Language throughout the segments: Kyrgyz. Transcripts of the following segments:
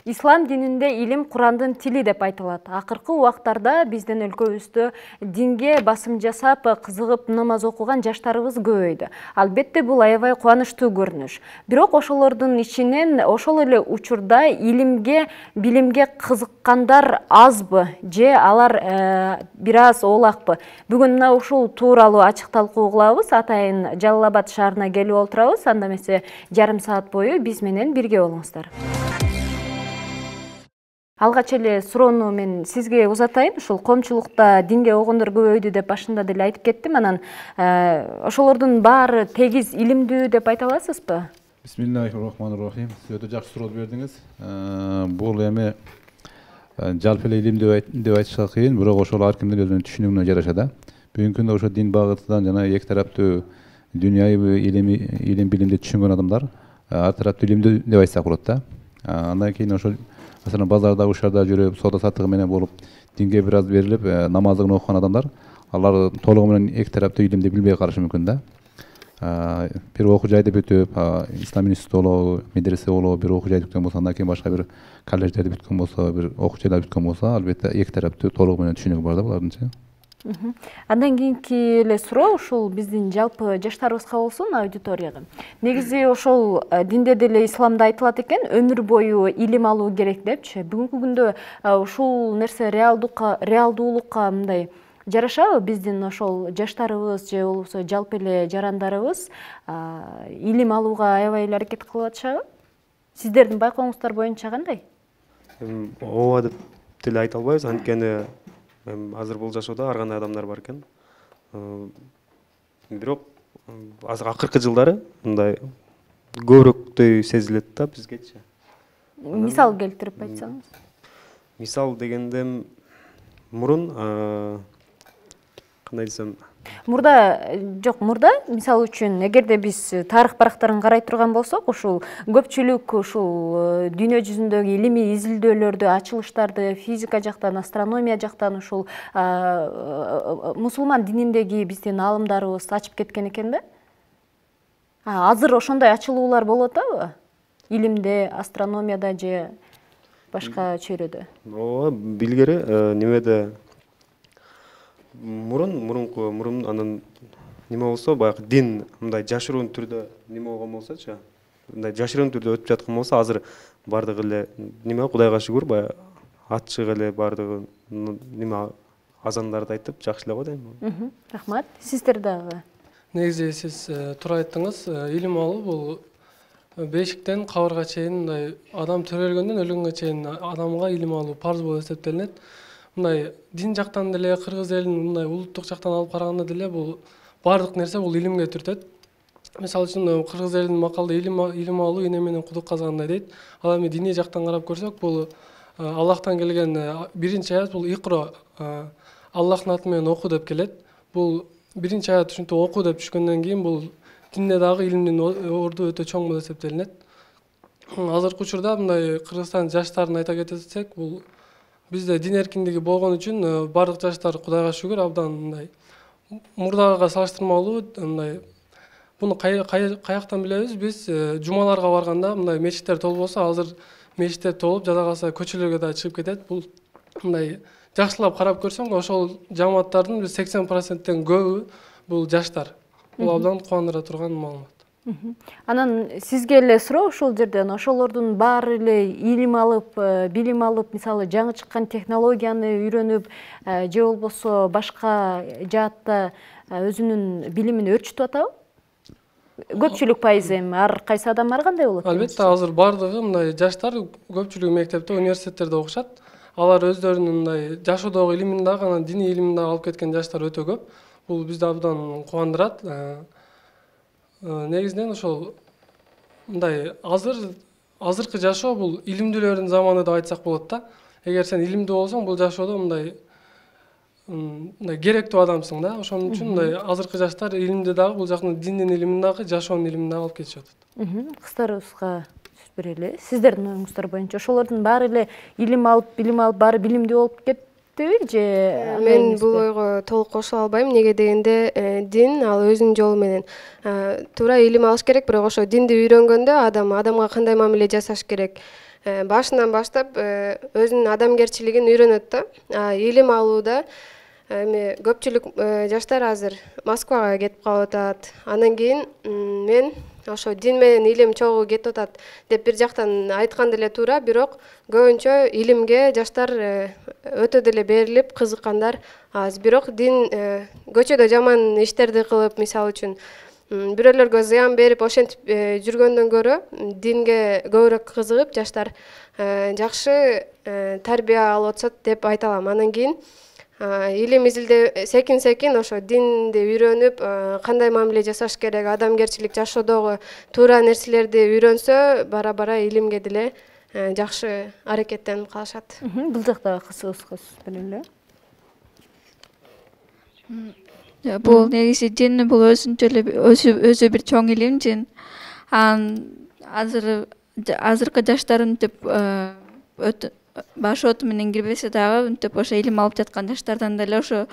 Ислам дининде илим Курандын тили деп айтылат. Акыркы убактарда биздин өлкөбүздө динге басым жасап, кызыгып намаз окуган жаштарыбыз көбөйдү. Албетте бул аябай кубанычтуу көрүнүш. Бирок ошолордун ичинен ошол эле учурда илимге, билимге кызыккандар азбы же алар бир аз оолакпы? Бүгүн мына ушул тууралуу ачык талкуу кылабыз. Атайын Жалал Абад шаарына келип отурабыз. Анда эмесе жарым саат бою биз менен бирге болуңуздар. Алгач эле суроону мен сизге узатайын. Ушул коомчулукта динге огондор көбөйдү деп башында деле айтып кеттим. Анан ошолордун баары тегиз илимдүү деп айта аласызбы? Бисмиллахиррахманиррахим. Сиз өтө жакшы суроо бердиңиз. Бул эми жалпы эле илим деп айтышка кыйын, бирок ошол ар кимдин өзүнүн түшүнүгүнө жараша да. Бүгүнкү күндө ошо дин багытынан жана эки тараптуу дүйнөйү илим билимди түшүнгөн адамдар ар тараптуу илимдүү деп айтсак болот да. Андан кийин ошол маселен базарда, ушарда жүрүп, соода саттыгы менен болуп, динге бир аз берилип, намаздыгын окуган адамдар, алар толугу менен эки тараптуу илимди билбей калышы мүмкүн да. Бир окуу жайды бүтүп, ислам институту болобу, медресе болобу, бир окуу жайды бүткөн болсо, андан кийин башка бир колледждерди бүткөн болсо, бир окуу жайларды бүткөн болсо, албетте эки тараптуу толугу менен түшүнүгү бар да булардынчы. Андан кийинки эле суроо ушул биздин жалпы жаштарыбызга болсун, аудиторияга. Негизи ошол динде деле исламда айтылат экен, өмүр бою илим алуу керек депчи. Бүгүнкү күндө ушул нерсе реалдуулукка мындай жарашабы биздин ошол жаштарыбыз же болбосо жалпы эле жарандарыбыз илим алууга аябай эле аракет кылып атышабы? Сиздердин байкооңуздар боюнча кандай? Ооба деп деле айта албайбыз, анткени азыр бул жашоодо ар кандай адамдар бар экен. Бирок акыркы жылдары мындай көбүрөөктөй сезилет да бизгечи. Мисал келтирип айтсаңыз. Мисал дегенде мурун кандай десем, мурда мисалы үчүн эгерде биз тарых барактарын карай турган болсок, ушул көпчүлүк ушул дүйнө жүзүндөгү илимий изилдөөлөрдү, ачылыштарды физика жактан, астрономия жактан ушул мусулман дининдеги биздин аалымдарыбыз ачып кеткен экен да. Азыр ошондой ачылуулар болуп атабы? Илимде, астрономияда же башка чөйрөдө? Ооба, билгери немеде мурун анан неме болсо, баягы дин мындай жашыруун түрдө неме болгон болсочу, мындай жашыруун түрдө өтүп жаткан болсо, азыр бардыгы эле неме, Кудайга шүгүр, баягы ачык эле бардыгы неме азандарды айтып жакшы эле го дейм. Рахмат. Сиздер дагы? Негизи сиз туура айттыңыз, илим алуу бул бешиктен кабырга чейин мындай адам төрөлгөндөн өлгөнгө чейин адамга илим алуу парз болуп эсептелинет. Мындай дин жактан деле, кыргыз элинин мындай улуттук жактан алып караганда деле бул бардык нерсе бул илимге түртөт. Мисалы үчүн кыргыз элинин макалда илим алуу эне менен кудук казгандай дейт. Ал эми диний жактан карап көрсөк, бул Аллахтан келген биринчи аят, бул икро, Аллахтын аты менен оку деп келет. Бул биринчи аят ушинтип оку деп түшкөндөн кийин бул динде дагы илимдин орду өтө чоң болуп эсептелинет. Азыркы учурда мындай Кыргызстан жаштарын айта кетсек, бул бизде дин эркиндиги болгон үчүн бардык жаштар Кудайга шүгүр абдан мындай мурдага салыштырмалуу мындай буну каяктан билебиз? Биз жумаларга барганда мындай мечиттер толбосо, азыр мечиттер толуп, жада калса көчөлөргө да чыгып кетет. Бул мындай жакшылап карап көрсөң, ошол жамааттардын 80%тен көбү бул жаштар. Бул абдан кубандыра турган маалымат. Анан сизге эле суроо ушул жерден, ошолордун баары эле илим алып, билим алып, мисалы жаңы чыккан технологияны үйрөнүп, же болбосо башка жаатта өзүнүн билимин өөрчүтүп атабы? Көпчүлүк пайызы эми ар кайсы адам ар кандай болот? Албетте, азыр бардыгы мындай жаштар көпчүлүгү мектепте, университеттерде окушат. Алар өздөрүнүн мындай жашоодогу илимин дагы, анан диний илимин дагы алып кеткен жаштар өтө көп. Бул бизди абдан кубандырат. Негизинен ошол мындай азыркы жашоо бул илимдүүлөрдүн заманы деп айтсак болот да. Эгер сен илимдүү болсоң, бул жашоодо мындай керектүү адамсың да. Ошон үчүн мындай азыркы жаштар илимди дагы, бул жактын диндин илимин дагы, жашоонун илимин дагы алып кетишип атат. Кыздарыбызга сөз берели. Сиздердин оюңуздар боюнча ошолордун баары эле илим алып, билим алып, баары билимдүү болуп жетиштүүбү же мен бул ойго толук кошула албайм. Неге дегенде дин ал өзүнүн жолу менен туура илим алыш керек, бирок ошо динди үйрөнгөндө адамга кандай мамиле жасаш керек башынан баштап өзүнүн адамгерчилигин үйрөнөт да. Илим алууда эми көпчүлүк жаштар азыр Москвага кетип калып атат. Андан кийин мен ошо дин менен илим чогуу кетип атат деп бир жактан айткан деле туура, бирок көбүнчө илимге жаштар өтө деле берилип кызыккандар аз. Бирок дин көчөдө жаман иштерди кылып, мисалы үчүн бирөөлөргө зыян берип ошентип жүргөндөн көрө динге көбүрөөк кызыгып жаштар жакшы тарбия алып атышат деп айта алам. Андан кийин илим изилдөө секин ошо динди үйрөнүп кандай мамиле жасаш керек, адамгерчилик жашоодогу туура нерселерди үйрөнсө бара илимге деле жакшы аракеттенип калышат. Бул жакта кызыгыз беле эле. Бул негизи дин бул өзүнчө эле өзү бир чоң илим дин. Азыркы жаштар мынтип баш оту менен кирбесе дагы мынтип ошо илим алып жаткан жаштардан деле ошо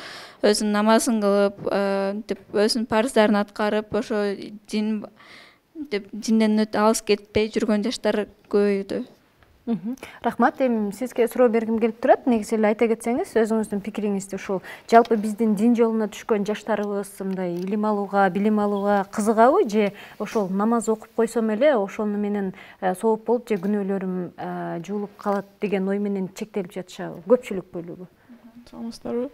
өзүнүн намазын кылып, мынтип өзүнүн парыздарын аткарып, ошо динден алыс кетпей жүргөн жаштар көбөйдү. Рахмат. Эми сизге суроо бергим келип турат. Негизи эле айта кетсеңиз өзүңүздүн пикириңизди ушул жалпы биздин дин жолуна түшкөн жаштарыбыз мындай илим алууга, билим алууга кызыгабы же ошол намаз окуп койсом эле ошону менен сооп болуп же күнөөлөрүм жуулуп калат деген ой менен чектелип жатышабы көпчүлүк бөлүгү? Саламатсыздарбы?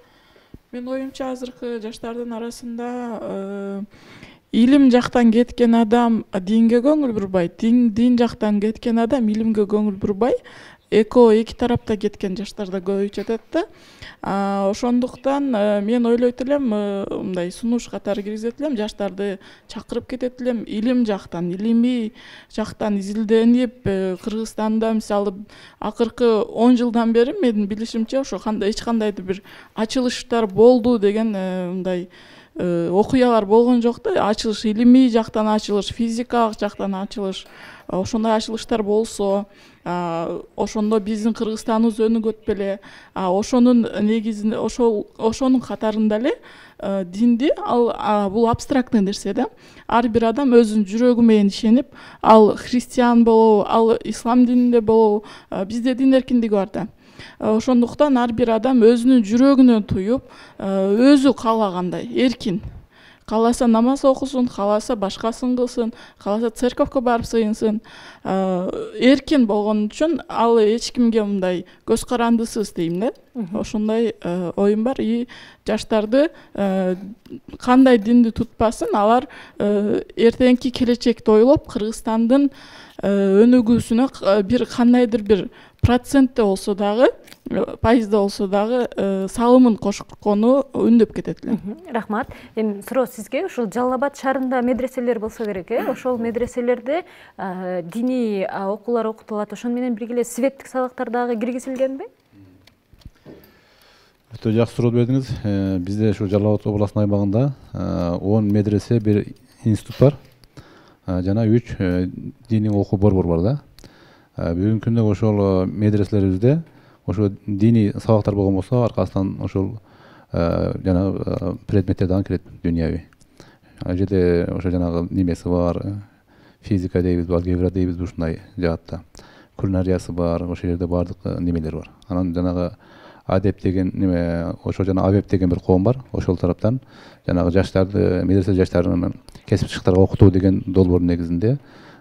Менин оюмча азыркы жаштардын арасында илим жактан кеткен адам динге көңүл бурбай, дин жактан кеткен адам илимге көңүл бурбай, эки тарапта кеткен жаштар да көбөйүп жатат да. Ошондуктан мен ойлойт элем, мындай сунуш катары киргизет элем, жаштарды чакырып кетет элем, илим жактан, илимий жактан изилденип, Кыргызстанда мисалы акыркы 10 жылдан бери менин билишимче ошо эч кандайдыр бир ачылыштар болду деген мындай окуялар болгон жок да. Ачылыш, илимий жактан ачылыш, физикалык жактан ачылыш, ошондой ачылыштар болсо, ошондо биздин Кыргызстаныбыз өнүгөт беле. Ошонун негизинде ошонун катарында эле динди бул абстрактный нерсе да. Ар бир адам өзүнүн жүрөгү менен ишенип, ал христиан болобу, ал ислам дининде болобу, бизде дин эркиндиги бар да. Ошондуктан ар бир адам өзүнүн жүрөгүнөн туюп, өзү каалагандай эркин. Кааласа намаз окусун, кааласа башкасын кылсын, кааласа церковко барып сыйынсын. Эркин болгон үчүн ал эч кимге мындай көз карандысыз дейм да. Ошондой оюм бар. Жаштарды кандай динди тутпасын, алар эртеңки келечекти ойлоп, Кыргызстандын өнүгүүсүнө бир кандайдыр бир процентте болсо дагы, пайызда болсо дагы салымын кошкону үндөп кетет эле. Рахмат. Эми суроо сизге, ушул Жалал Абад шаарында медреселер болсо керек, ошол медреселерде диний окуулар окутулат, ошону менен бирге эле светтик сабактар дагы киргизилгенби? Өтө жакшы суроо бердиңиз. Бизде ушу Жалал Абад областынын аймагында 10 медресе, бир институт бар. Жана 3 диний окуу борбор бар да. Бүгүнкү күндө ошол медреселерибизде ошо диний сабактар болгон болсо, аркасынан ошол жана предметтер дагы кирет, дүйнөви. Ал жерде ошо жанагы немеси бар, физика дейбиз, алгебра дейбиз, ушундай жаатта. Кулинариясы бар, ошол жерде баардык немелер бар. Анан жанагы адеп деген неме, ошо жана абеп деген бир коом бар. Ошол тараптан жанагы жаштарды, медресе жаштарын кесипчиликтерге окутуу деген долбоордун негизинде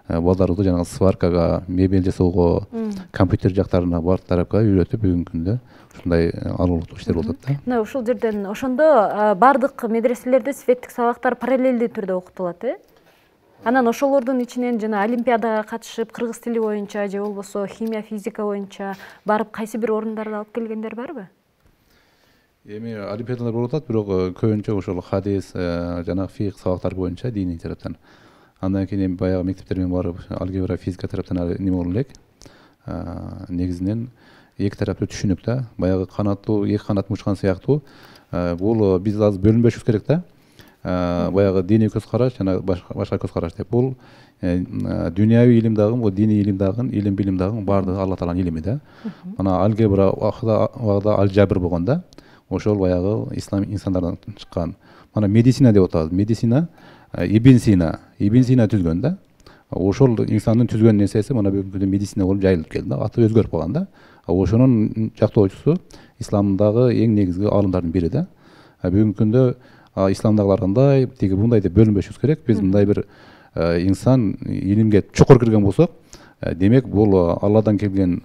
балдарыбызды жанагы сваркага, мебель жасоого, компьютер жактарына бар тарапка үйрөтүп, бүгүнкү күндө ушундай алуулуктуу иштер болуп атат да. Мына ушул жерден ошондо бардык медреселерде светтик сабактар параллелдүү түрдө окутулат, Анан ошолордун ичинен жана олимпиадага катышып, кыргыз тили боюнча же болбосо химия, физика боюнча барып кайсы бир орундарды алып келгендер барбы? Эми олимпиадалар болуп атат, бирок көбүнчө ошол хадис жана фикх сабактар боюнча диний тараптан. Андан кийин баягы мектептер менен барып, алгебра, физика тараптан неме боло элек. Негизинен эки тараптуу түшүнүп да, баягы канаттуу, эки канат учкан сыяктуу. Бул биз азыр бөлүнбөшүбүз керек да. баягы диний көз караш жана башка көз караш деп. Бул дүйнөви илим дагы, бул диний илим дагы, илим билим дагы баардыгы Алла Тааланын илими да. Мына алгебра убагында алжабр болгондо ошол баягы ислам инсандардан чыккан. Мана медицина деп атабыз. Медицина Ибн Сина түзгөн да. Ошол инсандын түзгөн нерсеси мына бүгүнкү күндө медицина болуп жайылып келди да. Аты өзгөрүп калган да. Ошонун жактоочусу исламдагы эң негизги аалымдардын бири да. Бүгүнкү күндө исламдагылар кандай, тиги мындай деп бөлүнбөшүбүз керек. Биз мындай бир инсан илимге чукур кирген болсок, демек бул Алладан келген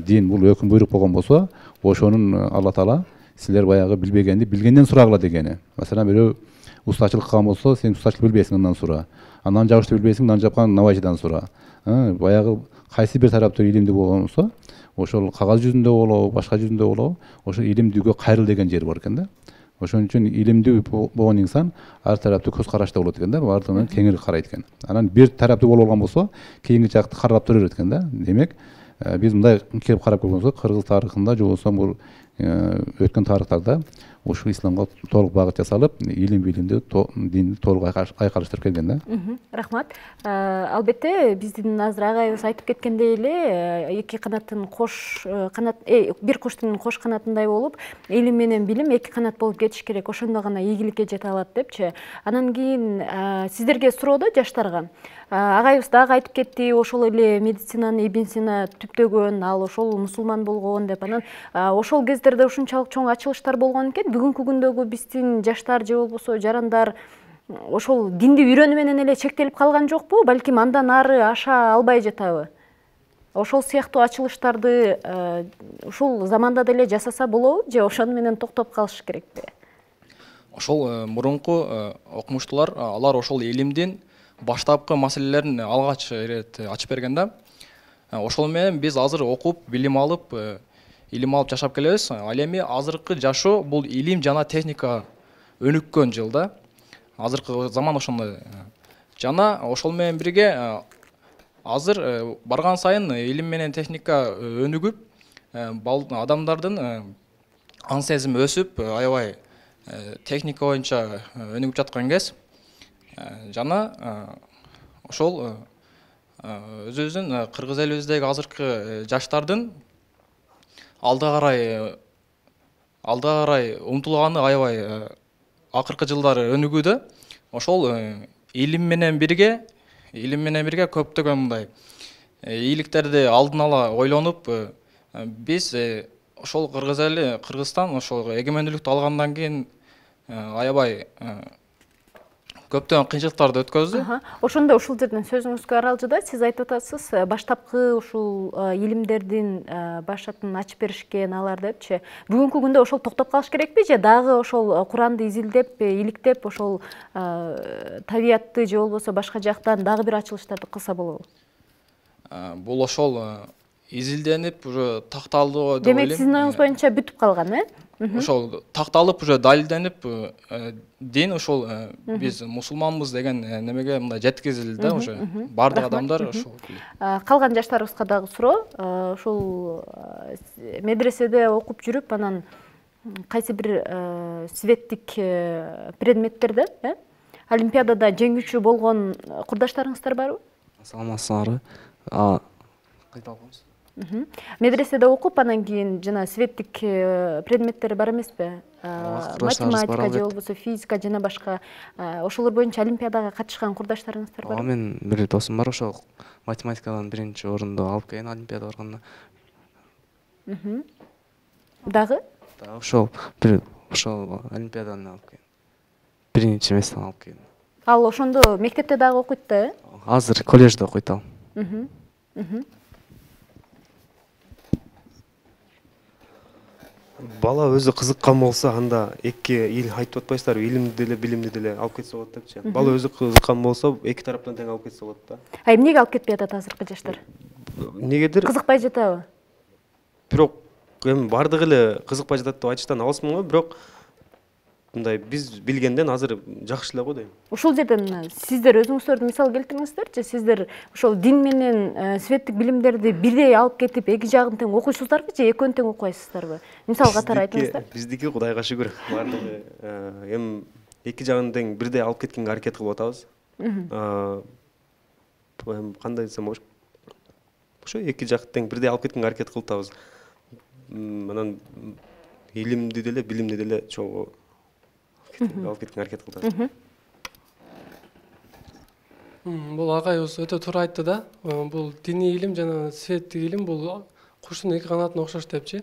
дин, бул өкүм буйрук болгон болсо, ошонун Алла Таала силер баягы билбегенди билгенден сурагыла дегени. Маселен, бирөө устачылык кылган болсо, сен устачылык билбейсиң, андан сура. Анан жабышты билбейсиң, нан жапкан навайчыдан сура. Баягы кайсы бир тараптуу илимдүү болгон болсо, ошол кагаз жүзүндө болобу, башка жүзүндө болобу, ошол илимдүүгө кайрыл деген жери бар экен да. Ошон үчүн илимдүү болгон инсан ар тараптуу көз карашта болот экен да, баардыгынан кеңири карайт экен. Анан бир тараптуу болуп алган болсо, кийинки жакты карап тура берет экен да. Демек, биз мындай келип карап көргөнсөк, кыргыз тарыхында же болбосо бул өткөн тарыхтарда ушул исламга толук багыт жасалып, илим билимди, динди толук айкалыштырып келген да. Рахмат. Албетте, биздин азыр агайыбыз айтып кеткендей эле, эки канаттын кош канат, бир куштун кош канатындай болуп, илим менен билим эки канат болуп кетиш керек. Ошондо гана ийгиликке жете алат депчи. Анан кийин сиздерге суроодо жаштарга агайыбыз дагы айтып кетти, ошол эле медицинаны Ибн Сина түптөгөн, ал ошол мусулман болгон деп. Анан ошол кездерде ушунчалык чоң ачылыштар болгон экен. Бүгүнкү күндөгү биздин жаштар же болбосо жарандар ошол динди үйрөнүү менен эле чектелип калган жокпу? Балким андан ары аша албай жатабы? Ошол сыяктуу ачылыштарды ушул заманда деле жасаса болобу же ошону менен токтоп калыш керекпи? Ошол мурунку окумуштуулар алар ошол илимдин баштапкы маселелерин алгач ирет ачып берген да. Ошол менен биз азыр окуп, билим алып жашап келебиз. Ал эми азыркы жашоо бул илим жана техника өнүккөн жыл да. Азыркы заман ошондой. Жана ошол менен бирге азыр барган сайын илим менен техника өнүгүп, адамдардын ан сезими өсүп, аябай техника боюнча өнүгүп жаткан кез. Жана ошол өзүбүздүн кыргыз элибиздеги азыркы жаштардын алда карай умтулганы аябай акыркы жылдары өнүгүүдө. Ошол илим менен бирге көптөгөн мындай ийгиликтерди алдын ала ойлонуп, биз ошол Кыргызстан ошол эгемендүүлүктү алгандан кийин аябай көптөгөн кыйынчылыктарды өткөздү. Ошондо ушул жерден сөзүңүзгө аралжыда сиз айтып атасыз, баштапкы ушул илимдердин башатын ачып беришкен алар депчи. Бүгүнкү күндө ошол токтоп калыш керекпи же дагы ошол Куранды изилдеп, иликтеп, ошол табиятты же болбосо башка жактан дагы бир ачылыштарды кылса болобу? Бул ошол изилденип, уже такталды деп ойлойм. Демек, сиздин оюңуз боюнча бүтүп калган, Ошол такталып, уже далилденип, дин ошол биз мусулманбыз деген немеге мындай жеткизилди да, уже бардык адамдар ошол. Калган жаштарыбызга дагы суроо. Ошол медреседе окуп жүрүп, анан кайсы бир светтик предметтерде, олимпиадада жеңүүчү болгон курдаштарыңыздар барбы? Саламатсыздарбы? Кайта алабыз. Медреседе окуп, анан кийин жана светтик предметтери бар эмеспи? Математика же болбосо физика жана башка ошолор боюнча олимпиадага катышкан курдаштарыңыздар барбы? Мен бир досум бар, ошол математикадан биринчи орунду алып келген олимпиада барганда. Дагы? Ошол олимпиадан алып келген. Биринчи местен алып келген. Ал ошондо мектепте дагы окуйт да, Азыр коллежде окуйт ал. Бала өзү кызыккан болсо, анда эки ил айтып атпайсыздарбы, илимди деле, билимди деле алып кетсе болот депчи. Бала өзү кызыккан болсо, эки тараптан тең алып кетсе болот да. Эмнеге алып кетпей атат азыркы жаштар? Негедир? Кызыкпай жатабы? Бирок эми бардыгы эле кызыкпай жатат деп айтыштан алысмын го, бирок мындай биз билгенден азыр жакшы эле го дейм. Ушул жерден сиздер өзүңүздөрдү мисал келтириңиздерчи, сиздер ошол дин менен светтик билимдерди бирдей алып кетип, эки жагын тең окуйсуздарбы же экөөнү тең окуйсуздарбы? Мисал катары айтыңыздар. Биздики Кудайга шүгүр, бардыгы эми эки жагын тең бирдей алып кеткенге аракет кылып атабыз. Кандай десем болот? Ошо эки жакты тең бирдей алып кеткенге аракет кылып атабыз. Анан илимди деле, билимди деле чогуу алып кеткенге аракет кылып атабыз. Бул агайыбыз өтө туура айтты да. Бул диний илим жана светтик илим бул куштун эки канатына окшош депчи.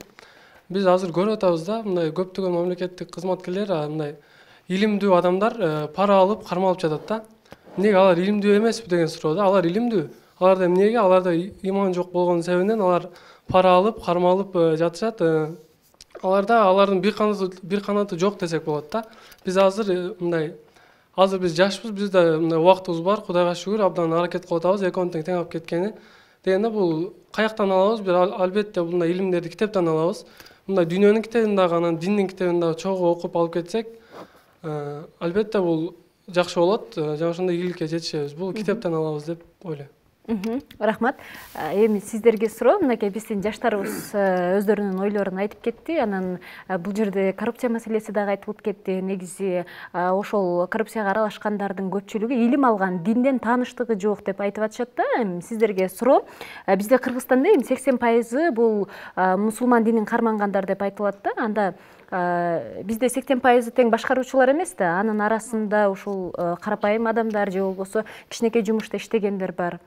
Биз азыр көрүп атабыз да, мындай көптөгөн мамлекеттик кызматкерлер мындай илимдүү адамдар пара алып кармалып жатат да. Эмнеге алар илимдүү эмеспи деген суроо да. Алар илимдүү. Аларда эмнеге? Аларда иман жок болгон себебинен алар пара алып кармалып жатышат. Алардын бир канаты жок десек болот да. Биз азыр мындай азыр биз жашпыз, бизде мындай убактыбыз бар, Кудайга шүгүр, абдан аракет кылып атабыз, экөөнү тең алып кеткени. Дегенде бул каяктан алабыз? Бир албетте мындай илимдерди китептен алабыз. Мындай дүйнөнүн китебин дагы, анан диндин китебин дагы чогуу окуп алып кетсек, албетте бул жакшы болот. Жана ошондой ийгиликке жетишебиз. Бул китептен алабыз деп ойлойм. Рахмат. Эми сиздерге суроо, мынакей биздин жаштарыбыз өздөрүнүн ойлорун айтып кетти. Анан бул жерде коррупция маселеси дагы айтылып кетти. Негизи ошол коррупцияга аралашкандардын көпчүлүгү илим алган, динден тааныштыгы жок деп айтып атышат да. Эми сиздерге суроо, бизде Кыргызстанда 80% бул мусулман динин кармангандар деп айтылат да. Анда бизде 80% тең башкаруучулар эмес да. Анын арасында ушул карапайым адамдар же болбосо кичинекей жумушта иштегендер бар.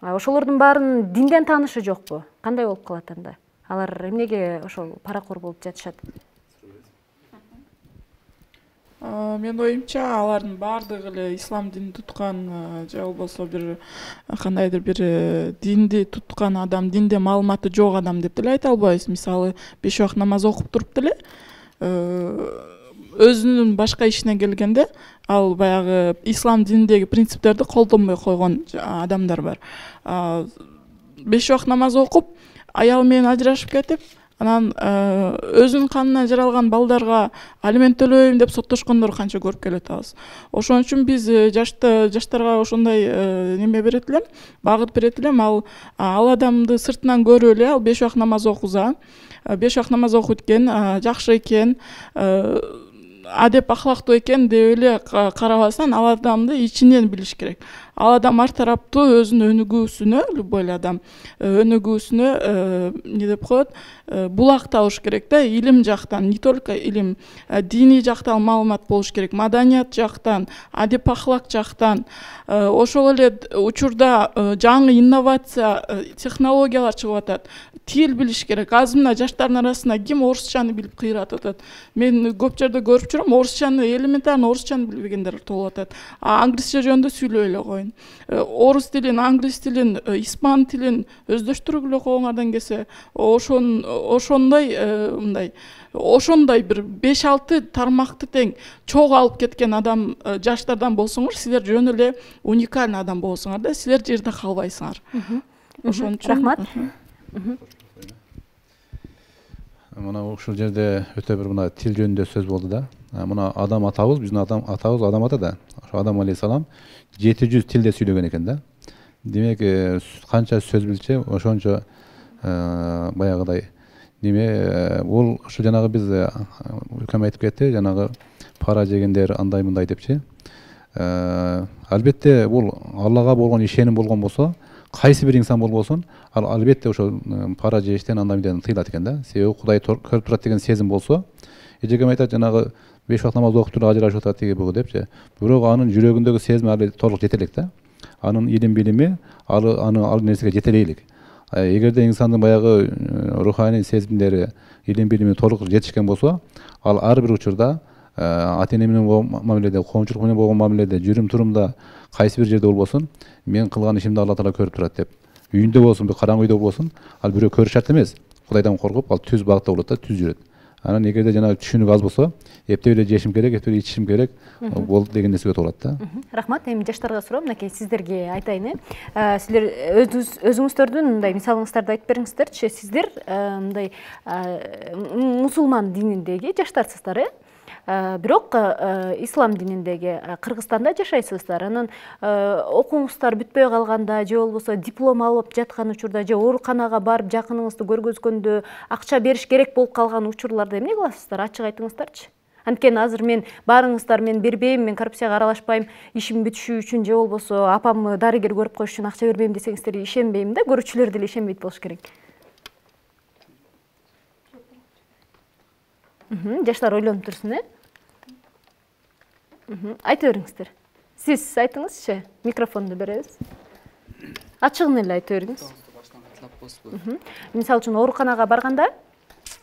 Ошолордун баарын динден таанышы жокпу? Кандай болуп калат анда? Алар эмнеге ошол паракор болуп жатышат? Менин оюмча, алардын баардыгы эле ислам динин туткан же болбосо бир кандайдыр бир динди туткан адам, динде маалыматы жок адам деп деле айта албайбыз. Мисалы, 5 убакыт намаз окуп туруп деле өзүнүн башка ишине келгенде ал баягы ислам динидеги принциптерди колдонбой койгон адамдар бар. 5 убакыт намаз окуп, аялы менен ажырашып кетип, анан өзүнүн канынан жаралган балдарга алимент төлөбөйм деп соттошкондорду канча көрүп келип атабыз. Ошон үчүн биз жаштарга ошондой неме берет элем, багыт берет элем. Ал адамды сыртынан көрүп эле, ал 5 убакыт намаз окуза, 5 убакыт намаз окуйт экен, жакшы экен, адеп ахлактуу экен деп эле карабастан, ал адамды ичинен билиш керек. Ал адам ар тараптуу өзүнүн өнүгүүсүнө, любой эле адам өнүгүүсүнө эмне деп коет, булак табыш керек да, илим жактан, не только илим, диний жактан маалымат болуш керек, маданият жактан, адеп ахлак жактан. Ошол эле учурда жаңы инновация, технологиялар чыгып атат. Тил билиш керек. Азыр мына жаштардын арасында ким орусчаны билип кыйрап атат. Мен көп жерде көрүп жүрөм, орусчаны, элементарный орусчаны билбегендер толуп атат. Англисче жөнүндө сүйлөй эле коюн. Орус тилин, англис тилин, испан тилин өздөштүрүп эле коюңардан келсе, ошондой мындай ошондой бир 5-6 тармакты тең чогуу алып кеткен адам жаштардан болсоңор, силер жөн эле уникальный адам болосуңар да, силер жерде калбайсыңар. Ошон үчүн рахмат. Мына ушул жерде өтө бир мына тил жөнүндө сөз болду да. Мына адам атабыз, биздин атабыз адам ата да. Ошо Адам алейхисалам 700 тилде сүйлөгөн экен да. Демек, канча сөз билчи, ошончо баягыдай неме, бул ушу жанагы биз үлкөм айтып кетти, жанагы пара жегендер андай мындай депчи. Албетте бул Аллага болгон ишеним болгон болсо, кайсы бир инсан болбосун, ал албетте ошо пара жештен андай мындайдан тыйылат экен да. Себеби Кудай көрүп турат деген сезим болсо, эжекем айтат, жанагы 5 убакыт намаз окуп туруп ажырашып атат тиги бугу депчи. Бирок анын жүрөгүндөгү сезим али толук жете элек да. Анын илим билими ал нерсеге жете элек. Эгерде инсандын баягы руханий сезимдери, илим билими толук жетишкен болсо, ал ар бир учурда ата-эне менен болгон мамиледе, коомчулук менен болгон мамиледе, жүрүм турумда кайсы бир жерде болбосун, мен кылган ишимди Алла Таала көрүп турат деп. Үйүндө болсун, бир караңгы үйдө болсун, ал бирөө көрүш шарт эмес. Кудайдан коркуп, ал түз багытта болот да, түз жүрөт. Анан эгерде жанагы түшүнүк аз болсо, эптеп эле жешим керек, эптеп эле ичишим керек болду деген нерсеге толот да. Рахмат. Эми жаштарга суроо, мынакей сиздерге айтайын. Силер өзүңүздөрдүн мындай мисалыңыздарды айтып бериңиздерчи. Сиздер мындай мусулман дининдеги жаштарсыздар, бирок ислам дининдеги Кыргызстанда жашайсыздар. Анан окууңуздар бүтпөй калганда же болбосо диплом алып жаткан учурда же ооруканага барып жакыныңызды көргөзгөндө акча бериш керек болуп калган учурларда эмне кыласыздар? Ачык айтыңыздарчы. Анткени азыр мен баарыңыздар мен бербейм, мен коррупцияга аралашпайм, ишим бүтүшү үчүн же болбосо апамды дарыгер көрүп коюш үчүн акча бербейм десеңиздер ишенбейм да, көрүүчүлөр деле ишенбейт болуш керек. Жаштар ойлонуп турсун, айта бериңиздер. Сиз айтыңызчы, микрофонду беребиз. Ачыгын эле айта бериңиз. Мисалы үчүн ооруканага барганда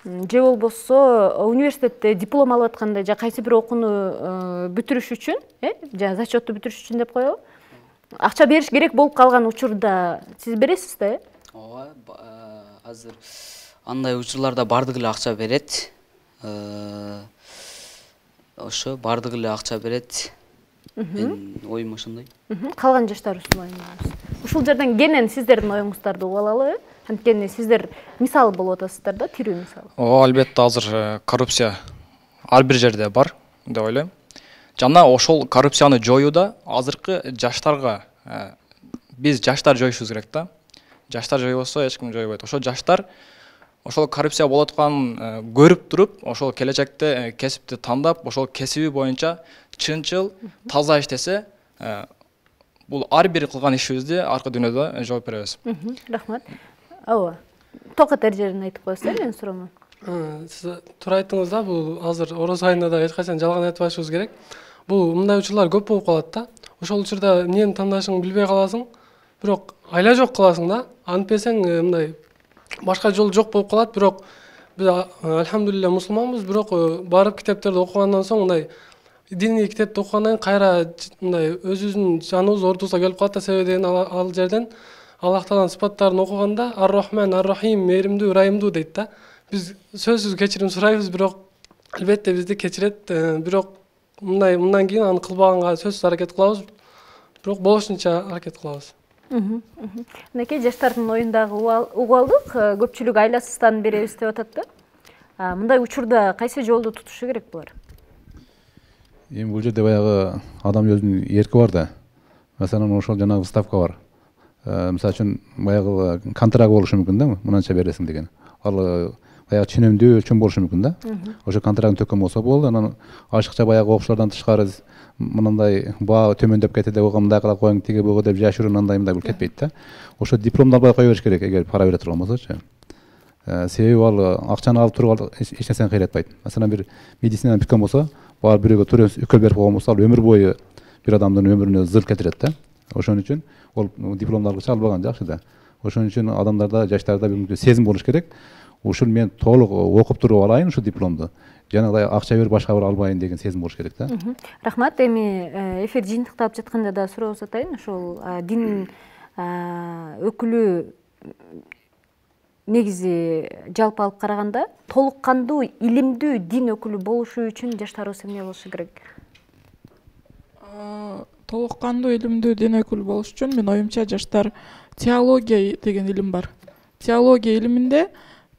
же болбосо университетте диплом алып атканда же кайсы бир окууну бүтүрүш үчүн, же зачетту бүтүрүш үчүн деп коебу, акча бериш керек болуп калган учурда сиз бересиз да? Ооба, азыр андай учурларда бардыгы эле акча берет. Ошо бардыгы эле акча берет. Мен оюм ошондой. Калган жаштарыбыз ушул жерден кенен сиздердин оюңуздарды угуп алалы. Анткени сиздер мисал болуп атасыздар да, тирүү мисал. Ооба, албетте азыр коррупция ар бир жерде бар деп ойлойм. Жана ошол коррупцияны жоюуда азыркы жаштарга биз жаштар жоюшубуз керек да. Жаштар жойбосо эч ким жойбойт. Ошо жаштар ошол коррупция болуп атканын көрүп туруп, ошол келечекте кесипти тандап, ошол кесиби боюнча чынчыл, таза иштесе, бул ар бир кылган ишибизди аркы дүйнөдө жооп беребиз. Рахмат. Ооба. Токот эр жерин айтып коесуздар, менин суроомо. Сиз туура айттыңыз да, бул азыр ороз айында да эч качан жалган айтпашыбыз керек. Бул мындай учурлар көп болуп калат да. Ошол учурда эмнени тандашыңды билбей каласың, бирок айла жок кыласың да. Антпесең мындай башка жол жок болуп калат, бирок биз альхамдулилля мусулманбыз, бирок барып китептерди окугандан соң мындай диний китепти окугандан кайра мындай өзүбүздүн жаныбыз ордубузга келип калат да, себеби деген ал жерден Аллах Тааланын сыпаттарын окуганда Ар-Рахман, Ар-Рахим, мээримдүү, ырайымдуу дейт да. Биз сөзсүз кечирим сурайбыз, бирок албетте бизди кечирет, бирок мындан кийин аны кылбаганга сөзсүз аракет кылабыз, бирок болушунча аракет кылабыз. Мынакей жаштардын оюндагы угуп алдык, көпчүлүк айласыздан беребиз деп атат да. Мындай учурда кайсы жолду тутушу керек булар? Эми бул жерде баягы адам өзүнүн эрки бар да. Маселен, ошол жанагы ставка бар. Мисалы үчүн баягы контракт болушу мүмкүн да, мынанча бересиң деген. Ал баягы ченемдүү өлчөм болушу мүмкүн да. Ошо контрактын төккөн болсо болду, анан ашыкча баягы окуучулардан тышкары мындай баа төмөндөп кетти деп мындай кыла коюң, тиги бугу деп жашыруу андай бул кетпейт да. Ошо дипломду албай кое бериш керек, эгер пара бере турган болсочу. Себеби ал акчаны алып туруп эч нерсени кыйратпайт. Маселен, бир медицинаны бүткөн болсо, баар бирөөгө туура үкөл берип койгон болсо, ал өмүр бою бир адамдын өмүрүнө зыл кетирет да. Ошон үчүн ол дипломду алгыча албаган жакшы да. Ошон үчүн адамдарда, жаштарда бир сезим болуш керек. Ушул мен толук окуп туруп алайын ушу дипломду. Жанагыдай акча берип башка бир албайын деген сезим болуш керек да. Рахмат. Эми эфир жыйынтыкталып жатканда да суроо узатайын. Ошол дин өкүлү негизи жалпы алып караганда толук кандуу, илимдүү дин өкүлү болушу үчүн жаштарыбыз эмне болушу керек? Толук кандуу, илимдүү дин өкүлү болуш үчүн менин оюмча жаштар теология деген илим бар. Теология илиминде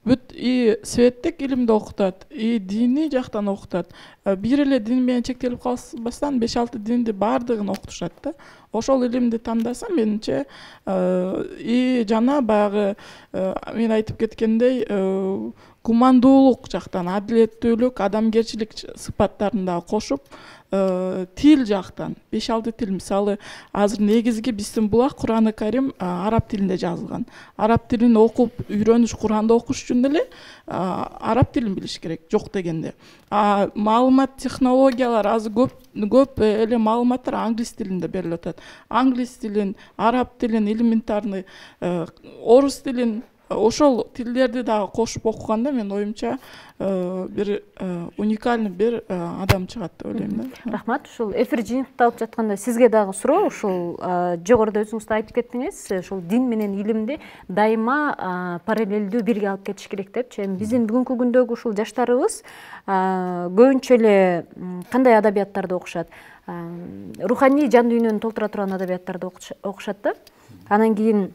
бүт и светтик илимди окутат, и диний жактан окутат. Бир эле дин менен чектелип калбастан 5-6 динди баардыгын окутушат да. Ошол илимди тандаса, менимче, и жана баягы мен айтып кеткендей, гумандуулук жактан, адилеттүүлүк, адамгерчилик сыпаттарын да кошуп, тил жактан 5-6 тил, мисалы азыр негизги биздин булак Кур'аны Карим араб тилинде жазылган. Араб тилин окуп үйрөнүш, Кур'анды окуш үчүн деле араб тилин билиш керек, жок дегенде. Маалымат технологиялар азыр көп эле маалыматтар англис тилинде берилип атат. Англис тилин, араб тилин, элементарный, орус тилин, ошол тилдерди да кошуп окуганда менин оюмча бир уникальный бир адам чыгат деп ойлойм да. Рахмат. Ушул эфир жыйынтыкталып жатканда сизге дагы суроо, ушул жогоруда өзүңүз да айтып кеттиңиз, ушул дин менен илимди дайыма параллелдүү бирге алып кетиш керек депчи. Эми биздин бүгүнкү күндөгү ушул жаштарыбыз көбүнчө эле кандай адабияттарды окушат? Руханий жан дүйнөнү толтура турган адабияттарды окушат да. Анан кийин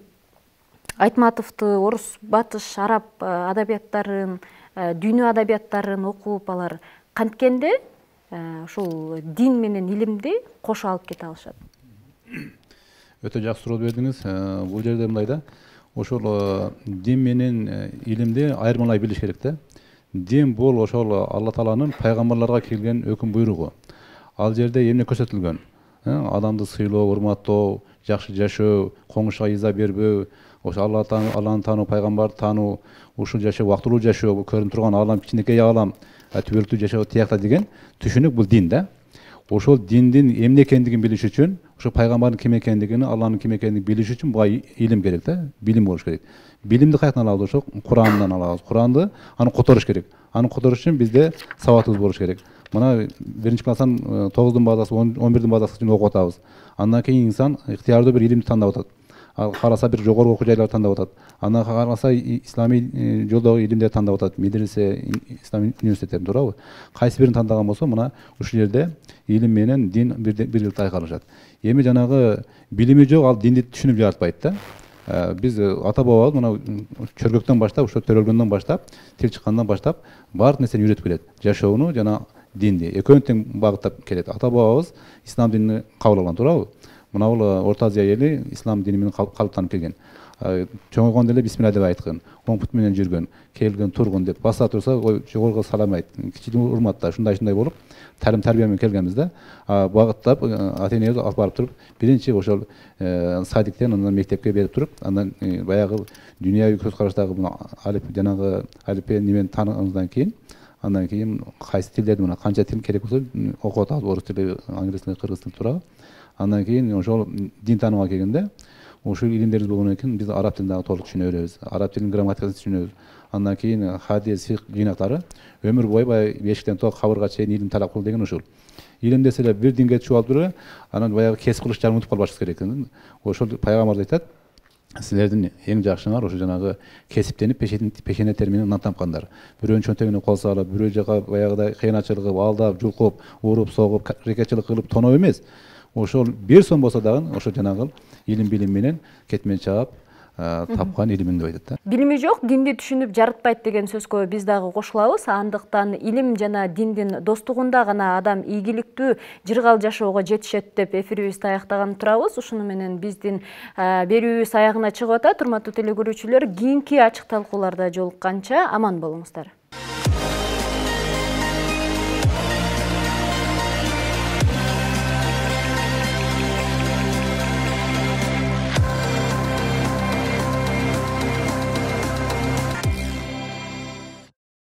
Айтматовду, орус, батыш, араб адабияттарын, дүйнө адабияттарын окуп алар канткенде ушул дин менен илимди кошо алып кете алышат. Өтө жакшы суроо бердиңиз. Бул жерде мындай да, ошол дин менен илимди айырмалай билиш керек да. Дин бул ошол Алла Тааланын пайгамбарларга келген өкүм буйругу. Ал жерде эмне көрсөтүлгөн? Адамды сыйлоо, урматтоо, жакшы жашоо, коңушка иза бербөө, ошо Алланы таануу, пайгамбарды таануу, ушул жашоо убактылуу жашоо, бул көрүнүп турган алам кичинекей алам, түбөлүктүү жашоо тиякта деген түшүнүк бул дин да. Ошол диндин эмне экендигин билиш үчүн, ошо пайгамбардын ким экендигин, Алланын ким экендигин билиш үчүн буга илим керек да, билим болуш керек. Билимди каяктан алабыз? Ошо Курандан алабыз. Куранды аны которуш керек. Аны которуш үчүн бизде сабатыбыз болуш керек. Мына 1-класстан 9-дун базасы, 11-дин базасына окуп атабыз. Андан кийин инсан ыктыярдуу бир илимди тандап атат. Караса бир жогорку окуу жайларды тандап атат. Андан караса исламий жолдогу илимдерди тандап атат. Медресе, ислам университеттерин, туурабы? Кайсы бирин тандаган болсо, мына ушул жерде илим менен дин бир айкалышат. Эми жанагы билими жок, ал динди түшүнүп жаратпайт да. Биз ата бабабыз мына чөргөктөн баштап, ошо төрөлгөндөн баштап, тил чыккандан баштап баардык нерсени үйрөтүп келет. Жашоону жана динди экөөнү тең багыттап келет. Ата бабабыз ислам динин кабыл алган, туурабы? Мына бул Орто Азия эли ислам дини менен калыптанып келген. Чоңойгондо эле бисмилла деп айткан, оң пут менен жүргөн, келгин, тургун деп баса турса, жогорку салам айт, кичинекей урматта, ушундай болуп, тарбия менен келгенбиз да. Багыттап, ата-энебиз алып барып туруп, биринчи ошол садиктен, андан мектепке берип туруп, андан баягы дүйнөбү көз караштагы жанагы алифбе немени тааныгандан кийин, андан кийин кайсы тилдерди, мына канча тил керек болсо окуп атабыз, орус тили, англис тили, кыргыз тили, туурабы? Андан кийин ошол дин таанууга келгенде, ушул илимдерибиз болгондон кийин биз араб тилин дагы толук түшүнө беребиз. Араб тилинин грамматикасын түшүнөбүз. Андан кийин хадис, фикх жыйнактары өмүр бою баягы бешиктен то кабырга чейин илим талап кыл деген ушул. Илим десе эле бир динге түшүп алып эле, анан баягы кесип кылыш жагын унутуп калбашыбыз керек. Ошол пайгамбарыбыз айтат, силердин эң жакшыңар ошо жанагы кесиптенип пешене термени нан тапкандар. Бирөөнүн чөнтөгүнө кол салып, бирөө жака баягыдай кыянатчылык кылып, алдап, жулкуп, уруп, согуп, рекетчилик кылып тоноо эмес. Ошол бир сом болсо дагы ошо жанагы илим билим менен кетмен чаап тапкан илимин деп айтат да. Билими жок, динди түшүнүп жаратпайт деген сөзгө биз дагы кошулабыз. Андыктан илим жана диндин достугунда гана адам ийгиликтүү жыргал жашоого жетишет деп эфирибизди аяктаган турабыз. Ушуну менен биздин берүүбүз аягына чыгып атат. Урматтуу теле көрүүчүлөр, кийинки ачык талкууларда жолукканча аман болуңуздар.